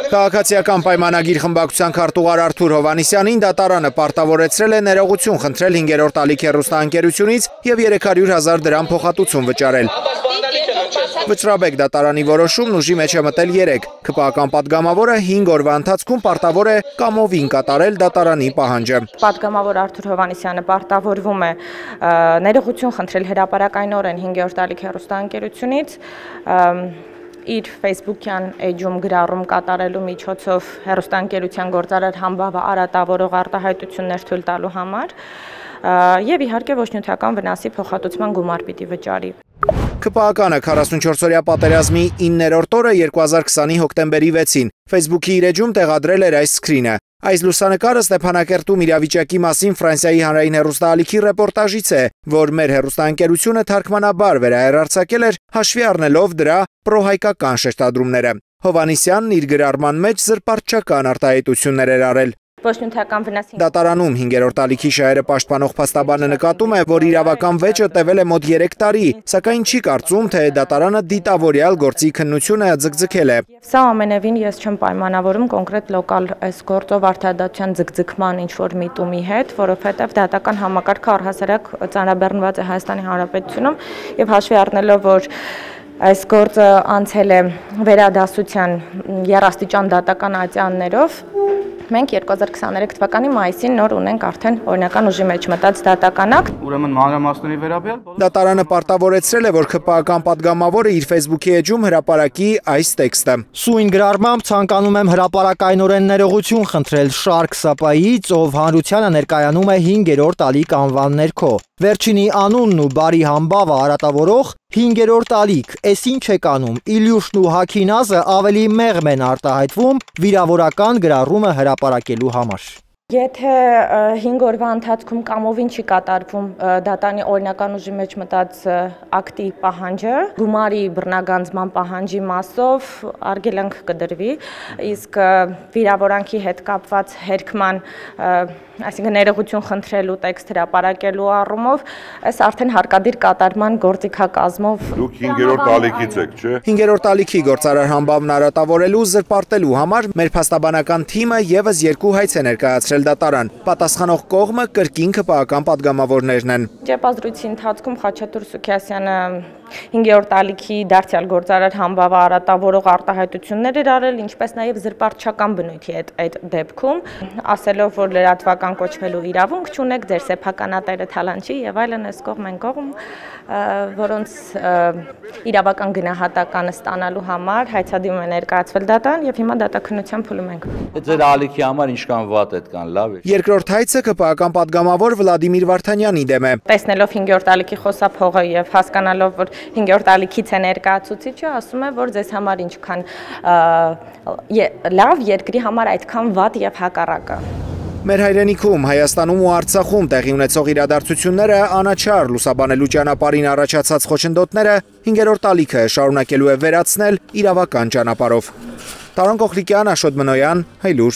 Քաղաքացիական պայմանագիր խմբակցության քարտուղար Արթուր Հովհաննիսյանին դատարանը պարտավորեցրել է ներողություն խնդրել 5-րդ ալիք հեռուստաընկերությունից և 300,000 դրամ փոխհատուցում վճարել։ Վճռաբեկ դատարանի որոշումն ուժի մեջ է մտել 3։ ՔՊԱ-ական պատգամավորը 5 օրվա ընթացքում պարտավոր է կամովին կատարել դատարանի պահանջը։ Պատգամավոր Արթուր Հովհաննիսյանը պարտավորվում է ներողություն խնդրել հրապարակայնորեն 5-րդ ալիք հեռուստաընկերությունից իր Facebook-յան էջում գրառում կատարելու միջոցով հեռուստաընկերության գործարար համբավը արատավորող արտահայտություններ թույլ տալու համար և իհարկե ոչ նյութական վնասի փոխհատուցման գումար պիտի վճարի։ ՔՊԱ-ականը 44-օրյա պատերազմի 9-րդ օրը 2020-ի հոկտեմբերի 6-ին Facebook-ի իր էջում տեղադրել էր այս սկրինը։ Այս լուսանկարը Ստեփանակերտում իրավիճակի մասին Ֆրանսիայի հանրային հեռուստաալիքի ռեպորտաժից է, որ մեր հեռուստաընկերությունը թարգմանաբար վերահեռարձակել էր հաշվի առնելով դրա պրոհայկական շեշտադրումները։ Հովհաննիսյանն իր գրառման մեջ զրպարտչական արտահայտություններ էր արել։ Դատարանում 5-րդ ալիքի շահերը պաշտպանող փաստաբանը նկատում է, որ իրավական վեճը տևել է մոտ 3 տարի, սակայն չի կարծում, թե դատարանը դիտավորյալ գործի քննությունը ձգձգել է։ Սա ամենևին ես չեմ պայմանավորում կոնկրետ լոկալ այս գործով արդարադատության ձգձգման ինչ-որ միտումի հետ, որովհետև դատական համակարգը առհասարակ ծանրաբեռնված է Հայաստանի Հանրապետությունում և հաշվի առնելով, որ այս գործը անցել է վերադասության եռաստիճան դատական ատյաններով, մենք 2023 թվականի մայիսին նոր ունենք արդեն օրինական ուժի մեջ մտած դատականակ։ Ուրեմն մանրամասների վերաբերյալ դատարանը պարտավորեցրել է, որ ՔՊԱ-ական պատգամավորը իր Facebook-ի էջում հրապարակի այս տեքստը։ Սույն գրառմամբ ցանկանում եմ հրապարակայնորեն ներողություն խնդրել Շարք Սապայից, ով հանրությանը ներկայանում է 5-րդ ալիք անվան ներքո։ Վերջինի անունն ու բարի համբավը արատավորող 5-րդ ալիք, էս ինչ եք անում, Իլյուշն ու Հաքինազը ավելի մեղմ են արտահայտվում վիրավորական գրառումը հրապարակելու համար։ Եթե 5 օրվա ընթացքում կամովին չի կատարվում դատանի օրինական ուժի մեջ մտած ակտի պահանջը, գումարի բռնագանձման պահանջի մասով արգելանք կդրվի, իսկ վիրավորանքի հետ կապված հերքման, այսինքն ներողություն խնդրելու տեքստ հրապարակելու առումով, այս արդեն հարկադիր կատարման գործիքակազմով։ Դուք 5-րդ ալիքից եք, չէ՞։ 5-րդ ալիքի գործարար համբավն արատավորելու զրպարտելու համար մեր փաստաբանական թիմը եւս 2 հայց է ներկայացրել դատարան։ Պատասխանող կողմը կրկին ՔՊԱ-ական պատգամավորներն են։ Ճեպազրույցի ընթացքում Խաչատուր Սուքիասյանը 5-րդ ալիքի դարձյալ գործարար համբավը արատավորող արտահայտություններ էր արել, ինչպես նաև զրպարտչական բնույթի այդ դեպքում, ասելով, որ լրատվական կոչվելու իրավունք չունեք, ձեր սեփականատերը թալանչի եւ այլն այս կողմ են կողմ, որոնց իրավական գնահատականը ստանալու համար հայցադիմում է ներկայացվել դատարան եւ հիմա դատաքննության փուլում ենք։ Ձեր ալիքի համար ինչքան վատ այդ կան, լավ է։ Երկրորդ հայցը ԿՊԱ-ական պատգամավոր Վլադիմիր Վարդանյանի դեմ է։ Տեսնելով 5-րդ ալիքի խոսափողը եւ հասկանալով, որ 5-րդ ալիքից է ներկայացուցիչը, ասում է, որ ձեզ համար ինչքան լավ, երկրի համար այդքան վատ եւ հակառակը։ Մեր հայրենիքում, Հայաստանում ու Արցախում տեղի ունեցող իրադարձությունները անաչառ լուսաբանելու ճանապարհին առաջացած խոչընդոտները 5-րդ ալիքը շարունակելու է վերացնել իրավական ճանապարհով։ Տարոն Կոխլիկյան, Աշոտ Մնոյան, Հայլուր։